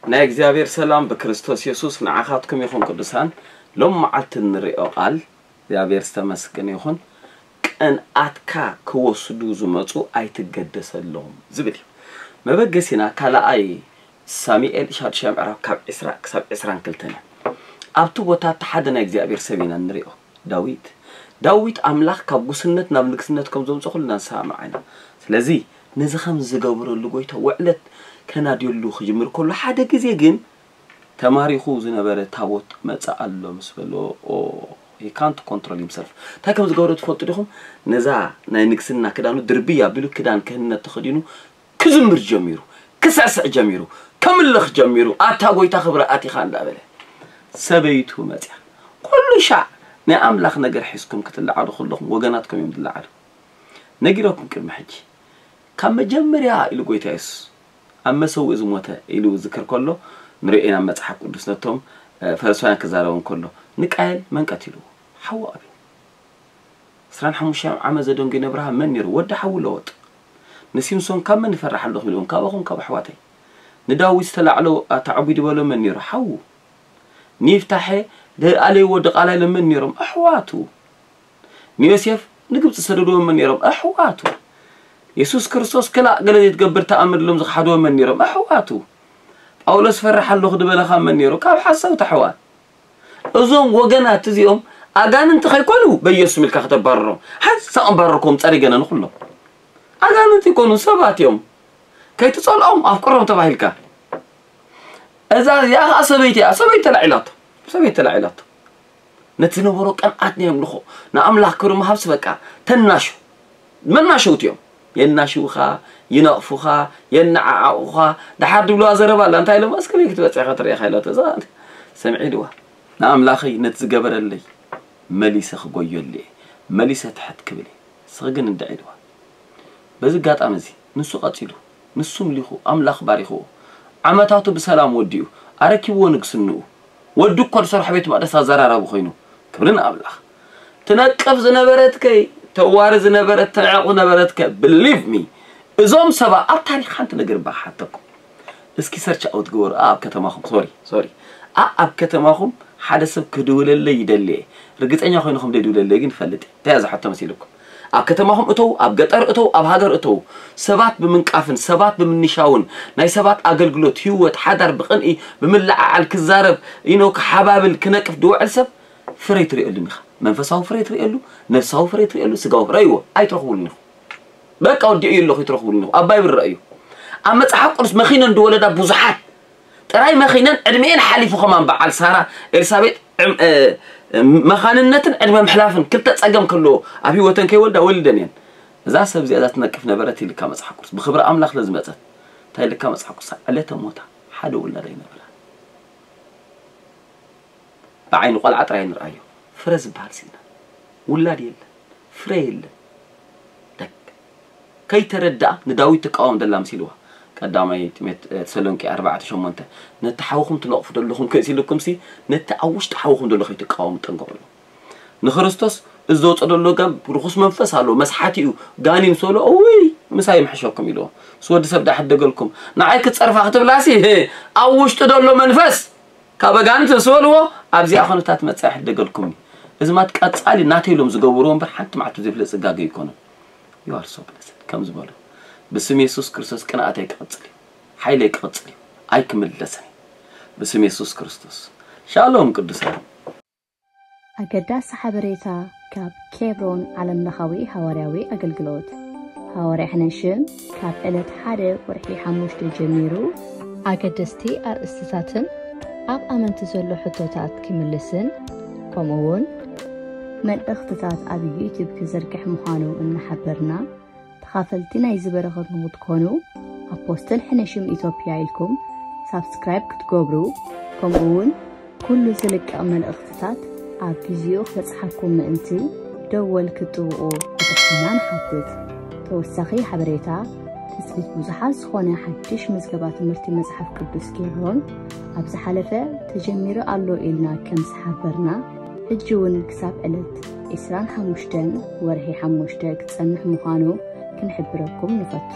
ናይ እግዚኣብሔር ሰላም ብክርስቶስ የሱስ ንዓኻትኩም ይኹን። ቅዱሳን፣ ሎም መዓልቲ እንሪኦ ቃል እግዚኣብሔር ዝተመስገነ ይኹን። ቅንኣትካ ክወስዱ ዝመፁ ኣይትገደሰሎም ዝብል እዩ። መበገሲና ካልኣይ ሳሙኤል ሻዱሻይ ምዕራፍ ካብ ዕስራ ክሳብ ዕስራን ክልተን እዩ። ኣብቲ ቦታ እቲ ሓደ ናይ እግዚኣብሔር ሰብ ኢና እንሪኦ፣ ዳዊት። ዳዊት ኣምላኽ ካብ ጉስነት ናብ ንግስነት ከም ዘምፅኦ ኩልና ንሰማማዕ ኢና። ስለዚ ነዚ ከም ዝገብረሉ ጎይታ ውዕለት ከናድየሉ ክጅምር ከሎ ሓደ ግዜ ግን ተማሪኹ ዝነበረ ታቦት መጽእ ኣሎ ምስ በሎ፣ ኦ፣ he can't control himself። እንታይ ከም ዝገበሮ ትፈልጡ ዲኹም? ነዛ ናይ ንግስና ክዳኑ ድርብይ ኣቢሉ ክዳን ክህነት ተኸዲኑ ክዝምር ጀሚሩ፣ ክስዕስዕ ጀሚሩ፣ ከምልኽ ጀሚሩ፣ ኣታ ጎይታ ክብሪ ኣቲኻ እንዳበለ ሰበይቱ መጽያ። ኩሉ ሻዕ ናይ ኣምላኽ ነገር ሒዝኩም ክትለዓሉ ከለኹም ወገናትኩም እዮም ዝለዓሉ። ነጊረኩም ቅድሚ ሕጂ ካብ መጀመርያ ኢሉ ጎይታ የሱስ ኣብ መሰውእ ዝሞተ ኢሉ ዝክር ከሎ ንሪኦ ኢና መጽሓፍ ቅዱስ ነቶም እ፣ ፈሪሳውያን ክዛረቦም ከሎ ንቃየል መን ቀቲልዎ? ሓዉ ኣቤል። ዕስራን ሓሙሽተን ዓመት ዘደንጉ ነብርሃ መን ነይሩ? ወዲ ሓዉ ለወጥ። ንሲምሶን ካብ መን ይፈራሕ ኣለኹም ኢልዎም? ካባኹም ካብ ኣሕዋተይ። ንዳዊት ዝተላዕሎ ኣተዓጒዱ በሎ መን ነይሩ? ሓዉ። ንይፍታሐ ደኣለይዎ ድቓላ ኢሎም መን ነይሮም? ኣሕዋቱ። ንዮሴፍ ንግብፂ ዝሰደድዎ መን ነይሮም? ኣሕዋቱ። የሱስ ክርስቶስ ክላእ ገለ ዘይትገብር ተኣምር ኢሎም ዝኸሓድዎ መን ነይሮም? ኣሕዋቱ። ጳውሎስ ፈርሕ ኣለኹ ዝበለኻ መን ነይሩ? ካብ ሓሰውቲ ኣሕዋት። እዞም ወገናት እዚኦም ኣጋንንቲ ከይኮኑ በየሱስ ኢልካ ከተባርሮም። ሓንሳእ ኣባረርኩም ፀሪገና ንኩሎም። ኣጋንንቲ ይኮኑ ሰባት እዮም። ከይትፀልኦም ኣፍቅሮም ተባሂልካ። እዛ እዚኣ ከዓ ሰበይቲ እያ። ሰበይቲ ተላዒላቶ። ሰበይቲ ተላዒላቶ። ነቲ ዝነበሮ ቅንኣት ናይ ኣምልኾ ንኣምላኽ ክብሪ ምሃብሲ በቃ ተናሹ። መናሸውቲ እዮም። የናሽውኻ፣ ይነቕፉኻ፣ የነዓዓቑኻ። ደሓር ድብልዋ ዘረባ ኣላ። እንታይ ኢሎም? "እስከ ቤት ክትበጽሕ ኢኻ ትርእኻ" ኢላቶ። እዛ ሰምዒ ኢልዋ። ንኣምላኸይ ነቲ ዝገበረለይ መሊሰ ክጎየሉ እየ። መሊሰ ትሕት ክብል እየ። ንስኺ ግን እንድዒ ኢልዋ። በዚ ኣጋጣሚ እዚ ንሱ ቀጺሉ፣ ንሱ ምሊኹ፣ ኣምላኽ ባሪኽዎ። ዓመታቱ ብሰላም ወዲኡ፣ ኣረኪብዎ ንግስንኡ። ወዱ እኮ ዝሰርሖ ቤት መቕደስ ኣዘራራቢ ኮይኑ። ክብሪ ንኣምላኽ። ትነቅፍ ዝነበረትከ፣ ተዋሪ ዝነበረት፣ ተዕቑ ነበረትከ፣ believe me። እዞም ሰባ ኣብ ታሪኽ ሓንቲ ነገር እባ ክሓተኩም። እስኪ ሰርች ኣውት ግበሩ። ኣብ ከተማኹም፣ ሶሪ፣ ሶሪ። ኣ-፣ ኣብ ከተማኹም ሓደ ሰብ ክድውለለይ ይደሊ እየ። ርግጸኛ ኮይንኹም ደይድውለለይ ግን ይፈልጥ እየ። እንታይ እያ ዝሓቶ መሲልኩም? ኣብ ከተማኹም እተው፣ ኣብ ገጠር እተው፣ ኣብ ሃገር እተው። ሰባት ብምንቃፍን፣ ሰባት ብምንሻውን፣ ናይ ሰባት ኣገልግሎት፣ ህይወት፣ ሓዳር ብቕንኢ ብምልዓዓል ክዛረብ፣ ኢኖ ክሓባብል፣ ክነቅፍ ድውዕል ሰብ ፍረ ኣይትርእየሉን ኢኻ። መንፈሳዊ ፍረ ኣይትርእየሉ፣ ነፍሳዊ ፍረ ኣይትርእየሉ፣ ስጋዊ ፍረ ኣይዎ፣ ኣይትረኽቡሉን ኢኹም። በቃ ወዲኡ ኣለኹ፣ ኣይትረኽቡሉን ኢኹም። ኣባይ ብረ እዩ። ኣብ መጽሓፍ ቅዱስ መኺነን ዝወለዳ ብዙሓት ጥራይ መኺነን ዕድሜኤን ሓሊፉ ከማን በዓል ሳራ፣ ኤልሳቤጥ ዕም-፣ እ፣ እ፣ መኻንነትን ዕድመ ምሕላፍን ክልተ ጸገም ከለዎ ኣብ ህይወተን ከይወልዳ ወሊደን እየን። እዛ ሰብ እዚኣ እዛ ትነቅፍ ነበረት ኢልካ መጽሓፍ ቅዱስ ብኽብሪ ኣምላኽ ስለ ዝመጸት እንታይ ኢልካ መጽሓፍ ቅዱስ ዕለተ ሞታ ሓደ ውላድ ኣይነበራ። ብዓይኒ ቆልዓ ጥራይ ንርኣዮ። ፍረ ዝበሃል ስኢና። ውላድ የለን። ፍረ የለን። ደግ። ከይተረድኣ ንዳዊት ትቃወም ደላ መሲልዋ። ቀዳማይ ጢሞት-፣ እ፣ ተሰሎንቄ ኣርባዕተ ሸሞንተ፣ "ነቲ ሓውኹም ትነቕፉ ደለኹም ከይሲ ኢልኩምሲ፣ ነቲ ኣብ ውሽጢ ሓውኹም ደሎ ከይትቃወሙ ጠንቀቑ" ኢሉ። ንክርስቶስ እዚ ዘውፅኦ ደሎ ጋም ርኹስ መንፈስ ኣለዎ፣ መስሓቲ እዩ፣ ጋኒን ሰሎ፣ "እውይ፣ ምሳይ ይምሕሸኩም" ኢልዎ። ምስ ወዲ ሰብ ዳኣ ሕደገልኩም። ንዓይ ክትፀርፋ ክትብላሲ፣ ኣብ ውሽጢ ደሎ መንፈስ ካብ ኣጋንንቲ ዝበልዎ ኣብዚኣ ኩነታት መጻኢ ሕደገልኩም። እዚ ማት ቀጻሊ ናተይ ኢሎም ዝገብርዎ እምበር ሓንቲ መዓልቲ ዘይፍለጥ ጽጋገ ኣይኮነን። You are so blessed ከም ዝበሉ ብስም የሱስ ክርስቶስ ቅንኣተይ ክቕጽል እዩ። ሓይለይ ክቕጽል እዩ። ኣይክምለስን እዩ። ብስም የሱስ ክርስቶስ። ሻሎም ቅዱሳን። ኣገዳሲ ሓበሬታ ካብ ኬብሮን ዓለምለኻዊ ሃዋርያዊ ኣገልግሎት። ሃዋርያ ሕነሽም ካብ ዕለት ሓደ ወርሒ ሓሙሽተ ጀሚሩ ኣገደስቲ ኣርእስትታትን ኣብ ኣመንቲ ዘሎ ሕቶታት ክምልስን ከምኡ እውን መልእኽትታት ኣብ ዩቱብ ክዝርግሕ ምዃኑ እናሓበርና፣ ተኻፈልቲ ናይዚ በረኸት ንኽትኮኑ ኣፖስትል ሕነሽም ኢትዮጵያ ኢልኩም ሳብስክራይብ ክትገብሩ፣ ከምኡ እውን ኩሉ ዝልቀቕ መልእኽትታት ኣብ ግዚኡ ክበጽሓኩም ምእንቲ ደወል ክትጥውቑ ብትሕትና ንሓትት። ተወሳኺ ሓበሬታ ትጽቢት ብዙሓት ዝኾነ ሓድሽ ምዝገባ ትምህርቲ መጽሓፍ ቅዱስ ኬብሮን ኣብ ዝሓለፈ ተጀሚሩ ኣሎ ኢልና ከም ዝሓበርና፣ ሕጂ እውን ክሳብ ዕለት ዕስራን ሓሙሽተን ወርሒ ሓሙሽተ ክጸንሕ ምዃኑ ክንሕብረኩም ንፈቱ።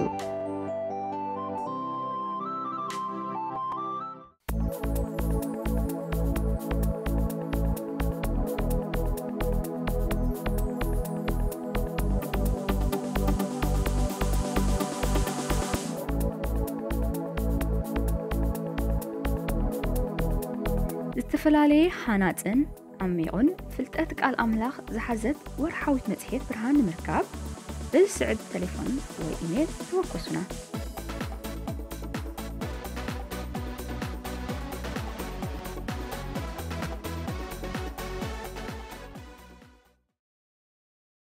ዝተፈላለየ ሃናጽን ዓሚቑን ፍልጠት ቃል ኣምላኽ ዝሓዘት ወርሓዊት መጽሔት ብርሃን ንምርካብ፣ በዚ ስዕብ ተሌፎን ወይ ኢሜል ተወከሱና።